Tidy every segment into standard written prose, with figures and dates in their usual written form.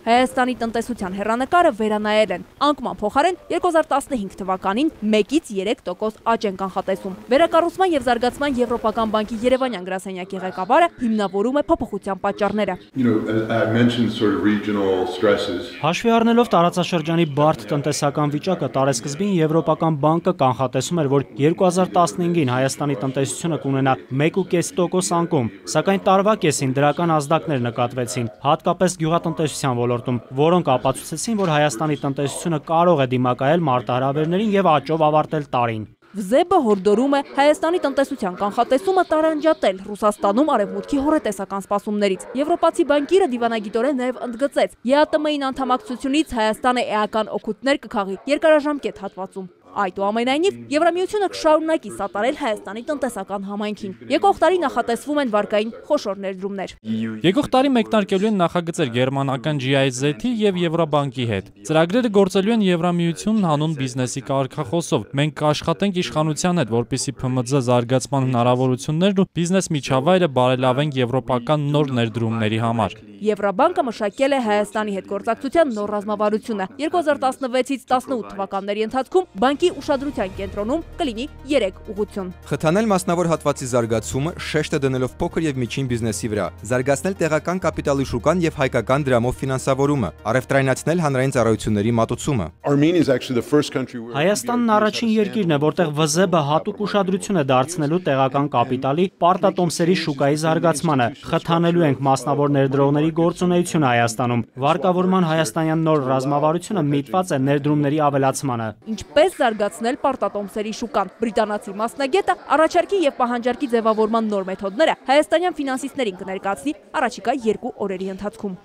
Հայաստանի տնտեսության հեռանկարը վերանայել են։ Անկման փոխարեն 2015 թվականին 1-3% աճ են կանխատեսում։ Վերակառուցման եւ զարգացման Եվրոպական բանկի Երևանյան գրասենյակի ղեկավարը հիմնավորում է փոփոխության պատճառները։ Հաշվի առնելով տարածաշրջանի բարդ տնտեսական վիճակը, տարեսկզբին Եվրոպական բանկը կանխատեսում էր, որ 2015-ին Հայաստանի տնտեսությունը կունենա 1,5% անկում, սակայն տարվա կեսին դրական ազդակներ նկատվեցին, հատկապես գյուղատնտեսության ոլորտում, որոնք ապացուցեցին, որ Հայաստանի տնտեսությունը կարող է դիմակայել մարտահրավերներին եւ աճով ավարտել տարին։ ՎԶԵԲ-ը հորդորում է Հայաստանի տնտեսության կանխատեսումը տարանջատել Ռուսաստանում արևմուտքի հոռետեսական սպասումներից։ Եվրոպացի բանկիրը դիվանագիտորեն նաև ընդգծեց, ԵԱՏՄ-ին անդամակցությունից Հայաստանը էական օգուտներ կքաղի երկարաժամկետ հատվածում։ Այդուամենայնիվ, Եվրամիությունը կշարունակի սատարել Հայաստանի տնտեսական համայնքին։ Եկող տարի նախատեսվում են վարկային խոշոր ներդրումներ։ Եկող տարի մեկնարկելու են նախագծեր գերմանական GIZ-ի եւ Եվրոբանկի հետ։ Ծրագրերը գործելու են Եվրամիությունն հանուն բիզնեսի կարգախոսով։ Մենք կաշխատենք իշխանության հետ, որպեսզի ՓՄԶ զարգացման հնարավորություններն ու բիզնես միջավայրը բարելավենք եվրոպական նոր ներդրումների համար։ Եվրոբանկը մշակել է Հայաստանի հետ գործակցության նոր ռազմավարությունը։ 2016-ից 18 թվականների ընթացքում բանկի ուշադրության կենտրոնում կլինի 3 ուղղություն։ Խթանել մասնավոր հատվածի զարգացումը, շեշտը դնելով փոքր եւ միջին բիզնեսի վրա, զարգացնել տեղական կապիտալի շուկան եւ հայկական դրամով ֆինանսավորումը, առևտրայնացնել հանրային ծառայությունների մատուցումը։ Հայաստանն առաջին երկիրն է, որտեղ ՎԶԵԲ-ը հատուկ ուշադրություն է դարձնելու տեղական կապիտալի պարտատոմսերի շուկայի զարգացմանը։ Խթանելու ենք մասնավոր ներդրողների գործունեությունը Հայաստանում։ Վարկավորման հայաստանյան նոր ռազմավարությունը միտված է ներդրումների ավելացմանը։ Ինչպես զարգացնել պարտատոմսերի շուկան։ Բրիտանացի մասնագետը առաջարկի եւ պահանջարկի ձևավորման նոր մեթոդները հայաստանյան ֆինանսիստներին կներկայացնի առաջիկա 2 օրերի ընթացքում։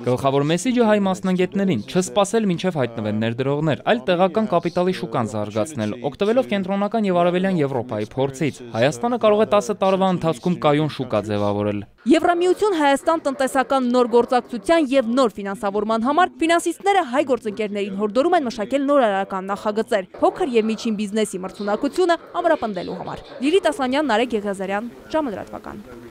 Գլխավոր մեսեջը հայ մասնագետներին չսպասել մինչև հայտնվեն ներդրողներ, այլ տեղական կապիտալի շուկան զարգացնել, օգտվելով կենտրոնական եւ արևելյան Եվրոպայի փորձից։ Հայաստանը կարող է 10 տարվա ընթացքում կայուն շուկա ձևավորել։ Եվրամիություն Հայաստան տնտեսական նոր գործակցության եւ նոր ֆինանսավորման համար ֆինանսիստները հայ գործընկերներին հորդորում են մշակել նորարարական նախագծեր փոքր եւ միջին բիզնեսի մրցունակությունը ամրապնդելու համար։ Լիլիթ Ասլանյան, Նարեկ Եղիազարյան, ժամը լրատվական։